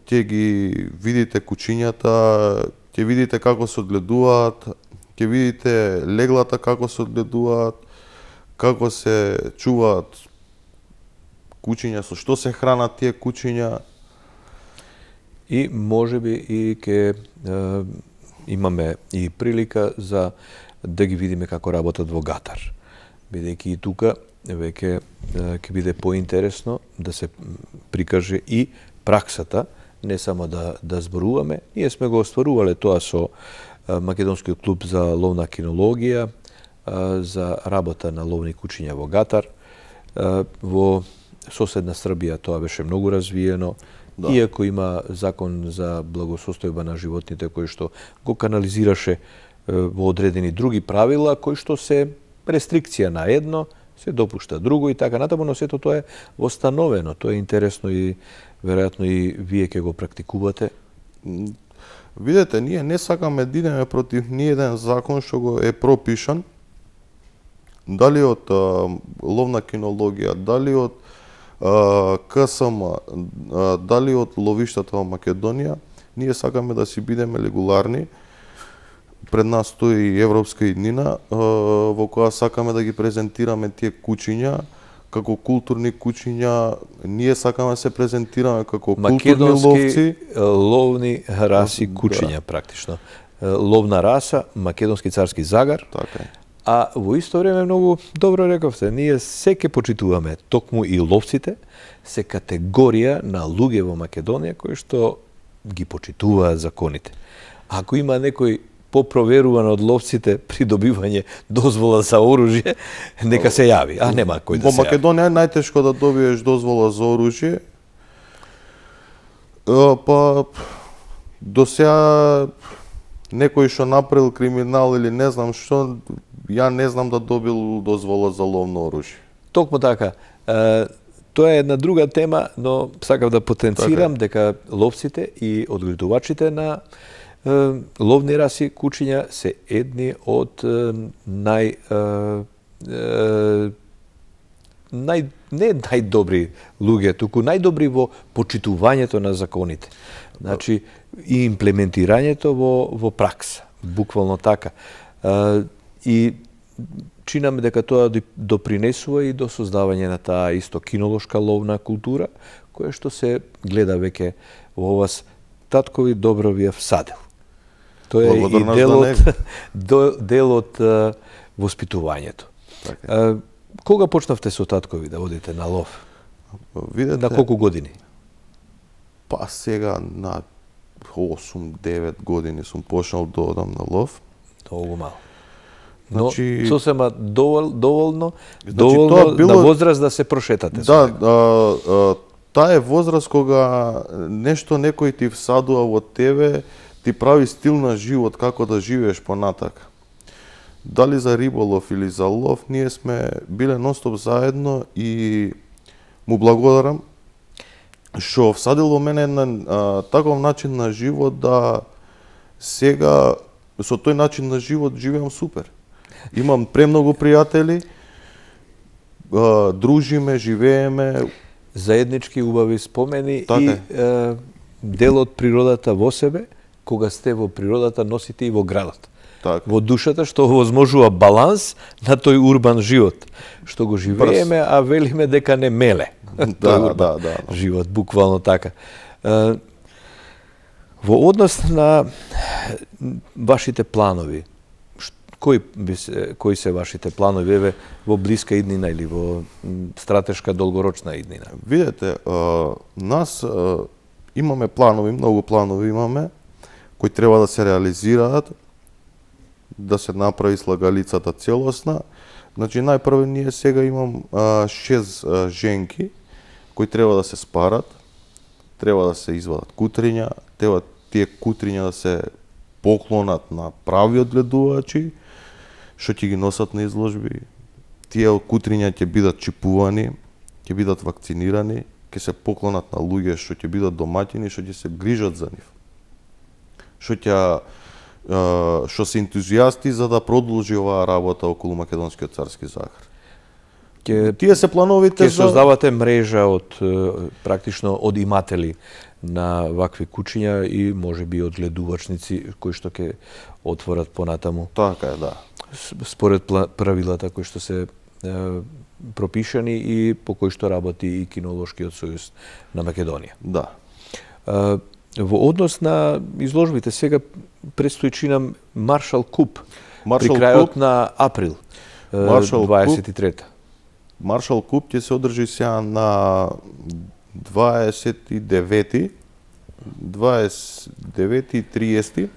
ќе ги видите кучињата, ќе видите како се одгледуваат, ќе видите леглата како се одгледуваат, како се чуваат кучиња, со што се хранат тие кучиња. И можеби и ќе е, имаме и прилика за да ги видиме како работат во гатар. Бидејќи и тука веќе ќе биде поинтересно да се прикаже и праксата, не само да да зборуваме. Ние сме го остварувале тоа со Македонскиот клуб за ловна кинологија, за работа на ловни кучиња во гатар. Во соседна Србија тоа беше многу развиено. Да. Иако има закон за благосостојба на животните кој што го канализираше во одредени други правила, кои што се рестрикција на едно, се допушта друго и така натаму, но сето тоа е восстановено. Тоа е интересно и веројатно и вие ќе го практикувате. Видете, ние не сакаме да идеме против ниеден закон што го е пропишан, дали од а, ловна кинологија, дали од а, К С М, а, дали од ловиштата во Македонија. Ние сакаме да си бидеме регуларни. Пред нас стои европска иднина, во која сакаме да ги презентираме тие кучиња како културни кучиња. Ние сакаме да се презентираме како културни ловци. Македонски ловни раси кучиња, да. Практично. Ловна раса, македонски царски загар. Така е. А во исто време многу добро рековте, ние се ке почитуваме, токму и ловците, се категорија на луѓе во Македонија кои што ги почитуваат законите. Ако има некој попроверуван од ловците при добивање дозвола за оружје, нека се јави, а нема кој да во се јави. Во Македонија е најтешко да добиеш дозвола за оружје. Па до сега некој што направил криминал или не знам што, ја не знам да добил дозвола за ловно оружје. Токму така. Тоа е една друга тема, но сакав да потенцирам така, дека ловците и одгледувачите на ловни раси кучиња се едни од нај нај не најдобри луѓе, туку најдобри во почитувањето на законите. Значи и имплементирањето во во пракса, буквално така. И чинаме дека тоа допринесува и до создавање на таа исто кинолошка ловна култура, која што се гледа веќе во вас таткови добро ви е всадил. Тоа е и дел од, дел од uh, воспитувањето. Така. Uh, кога почнавте со таткови да одите на лов? Видете, на колку години? Па сега на осум-девет години сум почнал да одам на лов. Многу мало. Но Значи, сосема довол, доволно, значи, доволно било, на возраст да се прошетате. Да, а, а, таа е возраст кога нешто некој ти всадува во тебе, ти прави стил на живот, како да живееш понатак. Дали за риболов или за лов, ние сме биле нонстоп заедно и му благодарам што всадил во мене на а, таков начин на живот да сега со тој начин на живот живеам супер. Имам премногу пријатели, а, дружиме, живееме. Заеднички убави спомени така и е, дел од природата во себе, кога сте во природата носите и во градот. Так. Во душата, што возможува баланс на тој урбан живот, што го живееме, Брз. а велиме дека не меле. Да, да, да. Живот, буквално така. Е, во однос на вашите планови, кои, кои се вашите планови еве во блиска иднина или во стратешка долгорочна иднина? Видете, а, нас а, имаме планови, многу планови имаме, кои треба да се реализираат, да се направи слагалицата целосна, Значи, најпрво ние сега имам а, шест а, женки кои треба да се спарат, треба да се извадат кутриња, треба тие кутриња да се поклонат на прави одгледувачи, што ќе ги носат на изложби. Тие кутриња ќе бидат чипувани, ќе бидат вакцинирани, ќе се поклонат на луѓе што ќе бидат домаќини, што ќе се грижат за нив. Што ќе што се ентузијасти за да продолжи оваа работа околу македонскиот царски загар. Ке, Тие се плановите ке за... создавате мрежа од практично од иматели на вакви кучиња и можеби од гледувачници кои што ќе отворат понатаму. Така е, да. Според правилата кои што се е, пропишани и по кои што работи и Кинолошкиот сојуз на Македонија. Да. Е, во однос на изложбите сега предстои чинам Маршал Куп Маршал при крајот Куп, на април Маршал дваесет и трета. Маршал Куп ќе се одржи сега на дваесет и девети, дваесет и девети и триесети.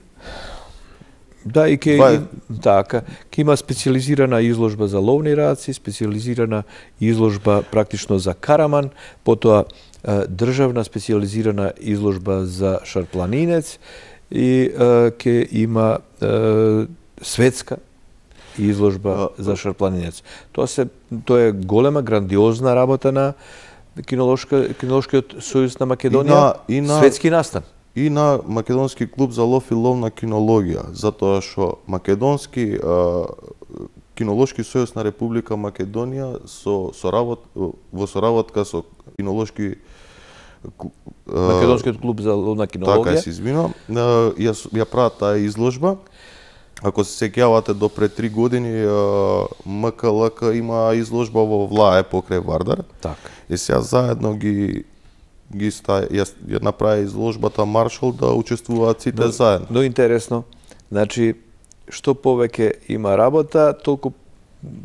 Да, и ке, Два... и, така, ке има специализирана изложба за ловни раци, специализирана изложба практично за караман, потоа државна специализирана изложба за шарпланинец и е, ке има е, светска изложба а, за шарпланинец. Тоа се тоа е голема грандиозна работа на кинолошка кинолошкиот сојуз на Македонија, и на, и на, светски настан. И на Македонски клуб за лов и ловна кинологија, затоа што Македонски а, кинолошки сојуз на Република Македонија со соработ во соработка со кинолошки Македонскиот клуб за ловна кинологија. Така се извинувам. Ја ја прават таа изложба. Ако се сеќавате до пред три години М К Л К има изложба во Влае покрај Вардар. Така. И сега заедно ги ги ста ја, ја направи изложбата Маршал да учествуваат сите но, заедно. Но интересно. Значи што повеќе има работа, толку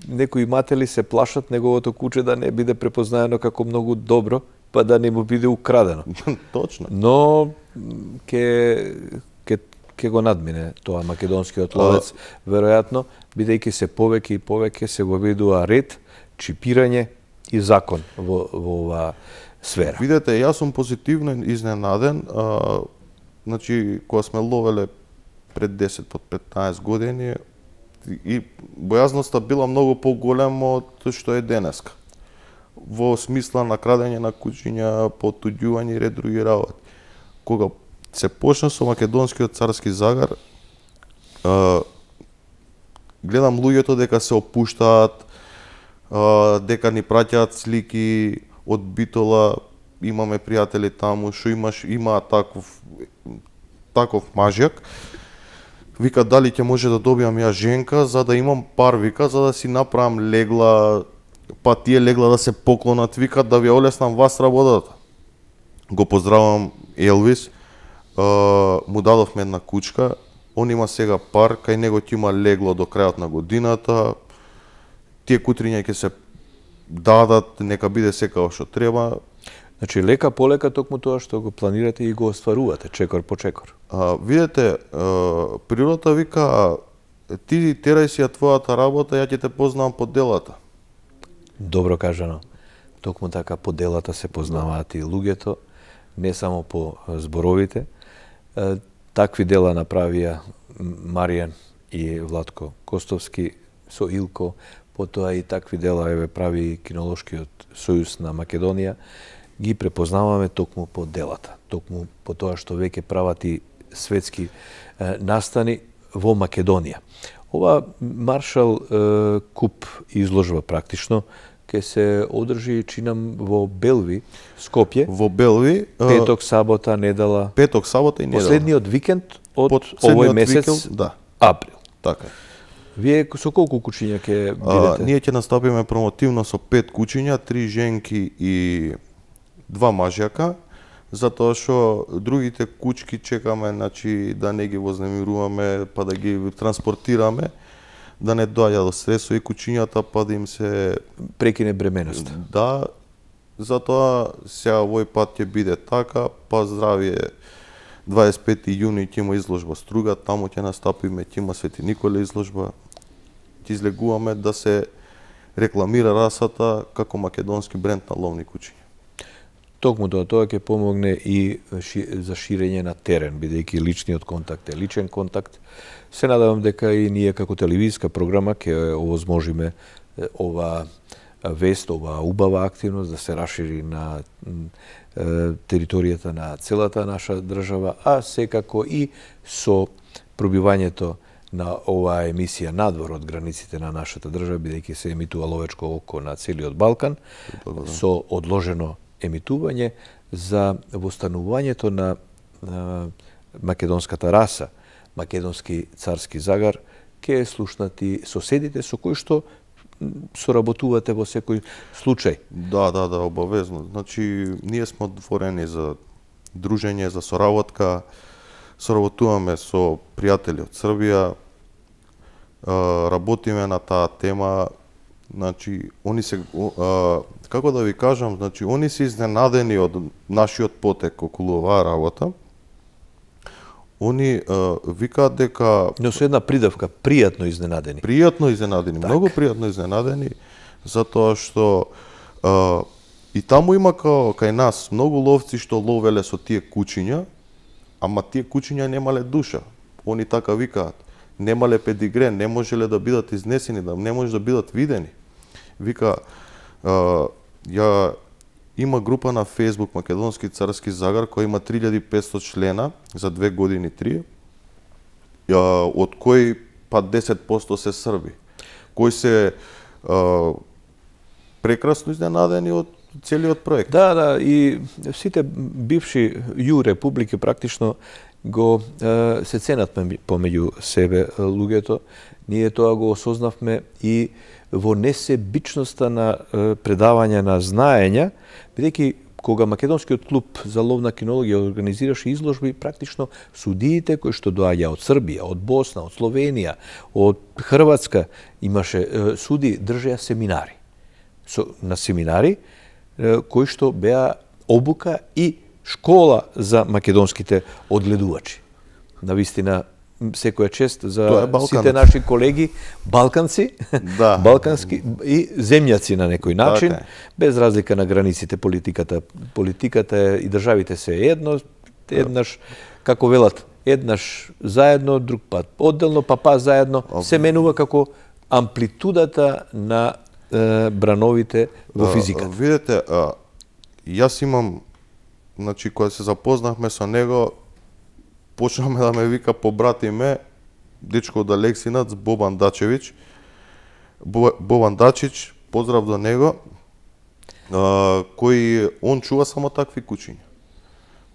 некои иматели се плашат неговото куче да не биде препознаено како многу добро, па да не му биде украдено. Точно. Но ке ке ке го надмине тоа македонскиот ловец, веројатно, бидејќи се повеќе и повеќе се воведува ред, чипирање и закон во во оваа сфера. Видете, јас сум позитивно изненаден. А, значи, кога сме ловеле пред десет под петнаесет години, и бојазноста била многу поголема од што е денеска. Во смисла на крадење на кучиња, потуѓување и ред други работи. Кога се почна со македонскиот царски загар, а, гледам луѓето дека се опуштаат, а, дека ни праќаат слики од Битола, имаме пријатели таму што имаш има таков таков мажјак. Вика дали ќе може да добиам ја женка за да имам пар, вика, за да си направам легла, па тие легла да се поклонат, вика да ви олеснам вас работата. Го поздравам Елвис, а, му дадовме една кучка, он има сега пар, кај него ќе има легло до крајот на годината. Тие кутриња ќе се дадат, нека биде секако што треба. Значи лека полека токму тоа што го планирате и го остварувате чекор по чекор. А, видете, а, природата вика ти терај си ја твојата работа, ја ќе те познавам по делата. Добро кажано. Токму така по делата се познаваат и луѓето, не само по зборовите. Такви дела направија Маријан и Владко Костовски со Илко, потоа и такви дела еве прави Кинолошкиот сојуз на Македонија. Ги препознаваме токму по делата, токму по тоа што веќе прават и светски е, настани во Македонија. Ова Маршал е, Куп изложба практично ќе се одржи, чинам, во Белви, Скопје. Во Белви, петок, сабота, недела. Петок, сабота и недела. Последниот викенд од Последниот овој месец, викенд, да. април. Така е. Вие со колку кучиња ќе бидете? А, ние ќе настапиме промотивно со пет кучиња, три женки и два мажјака, затоа што другите кучки чекаме, значи да не ги вознемируваме, па да ги транспортираме, да не доаѓа до стресови кучињата, па да им се прекине бременоста. Да, затоа сега овој пат ќе биде така, па здравие дваесет и пети јуни ќе има изложба Струга, таму ќе настапиме, ќе има Свети Николе изложба. Ќе излегуваме да се рекламира расата како македонски бренд на ловни кучиња. Токму тоа, тоа ќе помогне и ши, за ширење на терен, бидејќи личниот контакт е личен контакт. Се надевам дека и ние како телевизиска програма ќе овозможиме ова вест, ова убава активност да се расшири на територијата на целата наша држава, а секако и со пробивањето на оваа емисија надвор од границите на нашата држава, бидејќи се емитува Ловечко око на целиот Балкан, со одложено емитување за востанувањето на, на македонската раса, македонски царски загар, ќе слушнати соседите со кои што соработувате во секој случај. Да, да, да, обавезно. Значи, ние сме отворени за дружење, за соработка, соработуваме со пријатели од Србија, работиме на таа тема. Значи, они се, како да ви кажам, значи, они се изненадени од нашиот потек околу оваа работа. Они викаат дека... Но со една придавка, пријатно изненадени. Пријатно изненадени, так. Многу пријатно изненадени, затоа што а, и таму има као, кај нас многу ловци што ловеле со тие кучиња, ама тие кучиња немале душа. Они така викаат, немале педигре, не можеле да бидат изнесени, да не може да бидат видени. Вика, а, ја има група на Facebook Македонски царски загар која има три илјади и петстотини члена за две години три, од кои па десет проценти се срби, кои се а, прекрасно изненадени од целиот проект. Да, да, и сите бивши ју републики практично го е, се ценат помеѓу себе луѓето. Ние тоа го осознавме и во несебичноста на е, предавање на знаења, бидејќи кога Македонскиот клуб за ловна кинологија организираше изложби, практично судиите кои што доаѓа од Србија, од Босна, од Словенија, од Хрватска, имаше е, суди, држеа семинари. Со, на семинари е, кои што беа обука и школа за македонските одгледувачи. Навистина, секоја чест за сите наши колеги балканци, да. балкански и земјаци на некој начин, така, без разлика на границите политиката. Политиката и државите се едно, еднаш, како велат, еднаш заедно, друг пат одделно, па па заедно, се менува како амплитудата на е, брановите во физиката. Видете, а, јас имам, значи, кога се запознахме со него, почнаме да ме вика по братиме, дечко од Алексинац, Бобан Дачевич. Бобан Дачич, поздрав до него, а, кој, он чува само такви кучиња.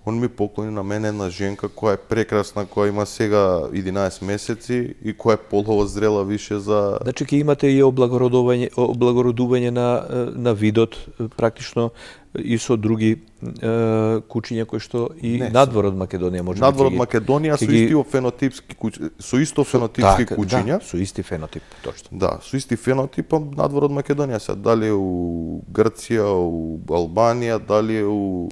Он ми поклони на мене една женка која е прекрасна, која има сега единаесет месеци и која е полово зрела више за... Значи, ќе имате и облагородување, облагородување на, на видот, практично, и со други е, кучиња кои што и не, надвор од Македонија може би. Надвор од Македонија со исти фенотипски кучиња, со исто фенотипски так, кучиња. Да, со исти фенотип, точно. Да, со исти фенотип, надвор од Македонија се дали у Грција, у Албанија, дали у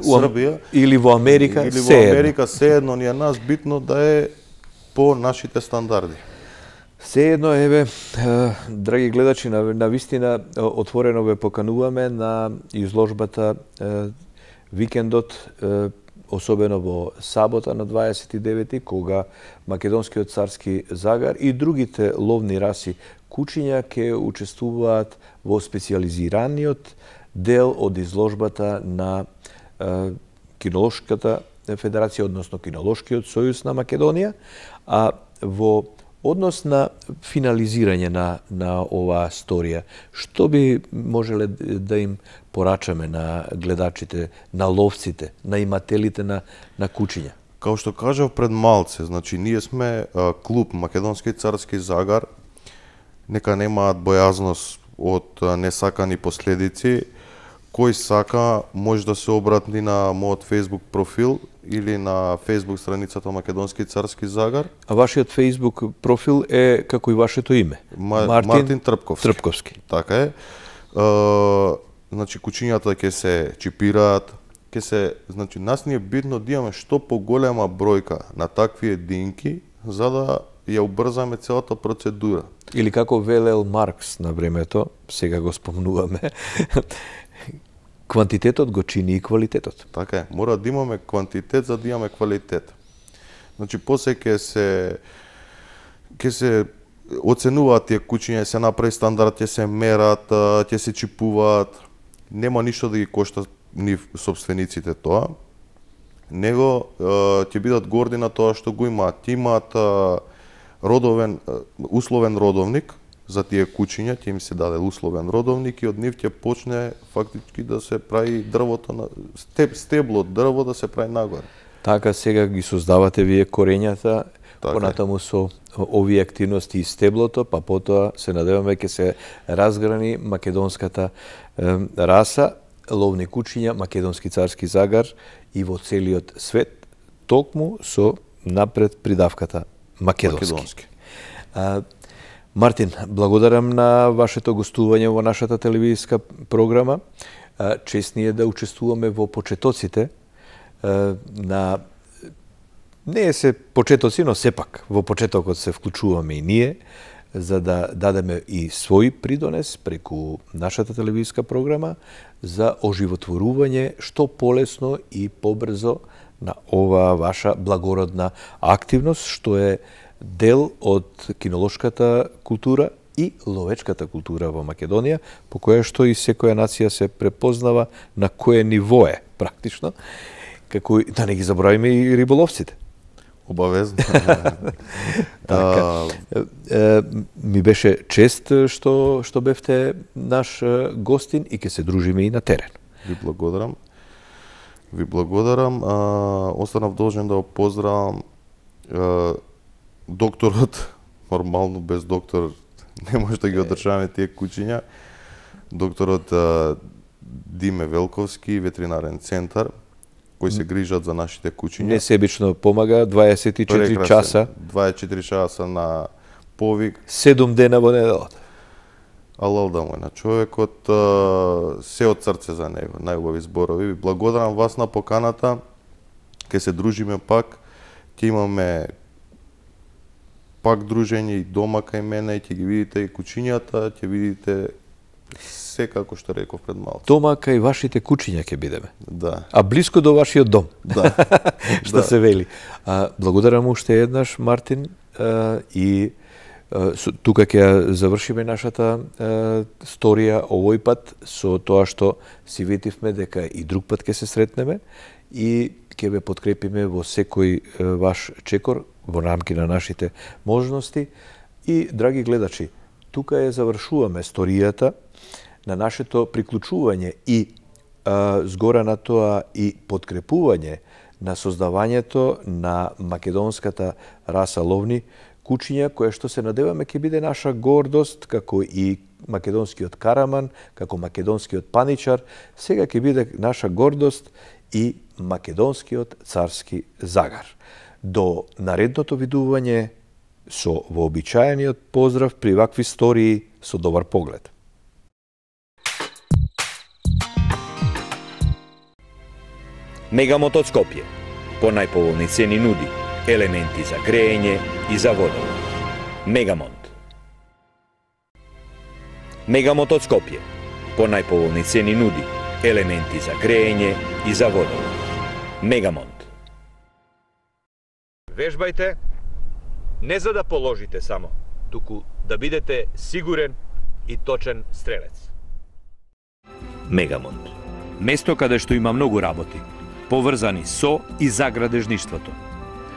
Србија или во Америка, или во Америка, се едно ни е нас битно да е по нашите стандарди. Се едно, еве, драги гледачи, на, на вистина отворено ве покануваме на изложбата е, викендот, е, особено во сабота на дваесет и девети, кога Македонскиот царски загар и другите ловни раси кучиња ќе учествуваат во специјализираниот дел од изложбата на е, Кинолошката федерација, односно Кинолошкиот сојуз на Македонија, а во однос на финализирање на, на оваа сторија, што би можеле да им порачаме на гледачите, на ловците, на имателите на, на кучиња? Као што кажав пред малце, значи ние сме а, клуб Македонски царски загар, нека немаат бојазност од а, несакани последици. Кој сака може да се обрати на мојот Facebook профил или на Facebook страницата Македонски царски загар. А вашиот Facebook профил е како и вашето име? Ма, Мартин, Мартин Трпковски. Трпковски. Така е. Uh, значи кучињата ќе се чипираат, ќе се, значи нас ни е битно да имаме што поголема бројка на такви единки за да ја убрзаме целата процедура. Или како велел Маркс на времето, сега го спомнуваме, квантитетот го чини и квалитетот. Така е, мора да имаме квантитет за да имаме квалитет. Значи, после ќе се ќе се оценуваат тие кучиња, се направи стандард, ќе се мерат, ќе се чипуваат. Нема ништо да ги кошта нив собствениците тоа, него ќе бидат горди на тоа што го имаат. Ти имаат родовен, условен родовник за тие кучиња, ќе им се даде условен родовник и од нив ќе почне фактички да се прави дрвото на стеб, стебло од дрво да се прави нагоре. Така сега ги создавате вие корењата, така понатаму со овие активности и стеблото, па потоа се надеваме ќе се разграни македонската е, раса, ловни кучиња, македонски царски загар и во целиот свет, токму со напред придавката македонски. македонски. А, Мартин, благодарам на вашето гостување во нашата телевизиска програма. А, чест ни е да учествуваме во почетоците а, на не е се почетоци, но сепак во почетокот се вклучуваме и ние, за да дадеме и свој придонес преку нашата телевизиска програма за оживотворување што полесно и побрзо на оваа ваша благородна активност, што е дел од кинолошката култура и ловечката култура во Македонија, по која што и секоја нација се препознава на кое ниво е, практично, како да не ги забравиме и риболовците. Обавезно. Така. Е, ми беше чест што што бевте наш гостин и ќе се дружиме и на терен. Ви благодарам. Ви благодарам. А, останав должен да го поздравам а, докторот. Нормално без доктор не може да ги одржаваме тие кучиња. Докторот а, Диме Велковски, ветеринарен центар, кои се грижат за нашите кучиња. Несебично помага дваесет и четири Прекрасен. часа. дваесет и четири часа на повик. седум дена во неделата. Алал да му е на човекот, се од срце за него, најубави зборови. Ви благодарам вас на поканата, ке се дружиме пак, ќе имаме пак дружење и дома кај мене, и ќе ги видите и кучињата, ќе видите се како што реков пред малку. Дома кај вашите кучиња ќе бидеме. Да. А блиско до вашиот дом. Да. Што Да. се вели. А, благодарам уште еднаш, Мартин, а, и а, со- тука ќе ја завршиме нашата а, сторија овој пат со тоа што си ветивме дека и друг пат ќе се сретнеме и ќе ве подкрепиме во секој а, ваш чекор во рамки на нашите можности. И, драги гледачи, тука ја завршуваме сторијата на нашето приклучување и а, згора на тоа и подкрепување на создавањето на македонската раса ловни кучиња, која што се надеваме ќе биде наша гордост, како и македонскиот караман, како македонскиот паничар, сега ќе биде наша гордост и македонскиот царски загар. До наредното видување со вообичаениот поздрав при вакви стории со добар поглед. Мегамонт од Скопје. По најповолни цени нуди елементи за грејење и за водовод. Мегамонт. Мегамонт од Скопје. По најповолни цени нуди елементи за грејење и за водовод. Мегамонт. Вежбајте не за да положите само, туку да бидете сигурен и точен стрелец. Мегамонт. Место каде што има многу работи, поврзани со и за градежништвото.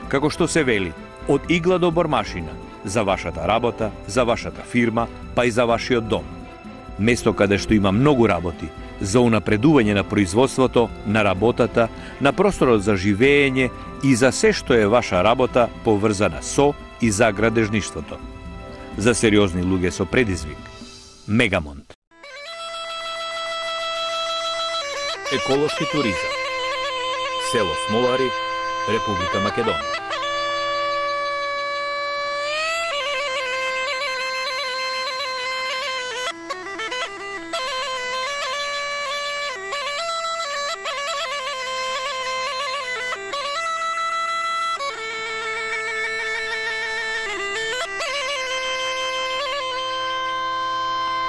Како што се вели, од игла до бормашина, за вашата работа, за вашата фирма, па и за вашиот дом. Место каде што има многу работи, за унапредување на производството, на работата, на просторот за живење и за се што е ваша работа поврзана со и за градежништвото. За сериозни луѓе со предизвик. Мегамонт. Еколошки туризам. Село Смолари, Република Македонија.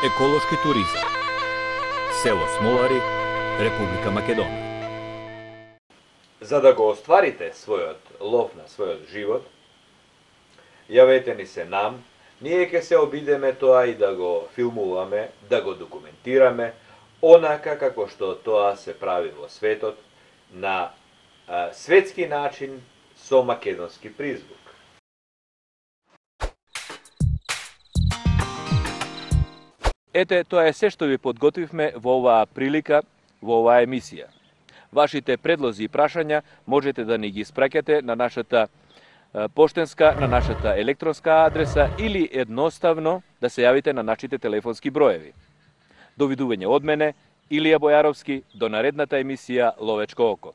Еколошки туризам. Село Смолари, Република Македонија. За да го остварите својот лов на својот живот, јавете ни се нам, ние ќе се обидеме тоа и да го филмуваме, да го документираме, онака како што тоа се прави во светот, на а, светски начин со македонски призвук. Ете, тоа е се што ви подготвивме во оваа прилика, во оваа емисија. Вашите предлози и прашања можете да ни ги испраќате на нашата поштенска, на нашата електронска адреса или едноставно да се јавите на нашите телефонски броеви. Довидување од мене, Илија Бојаровски, до наредната емисија Ловечко око.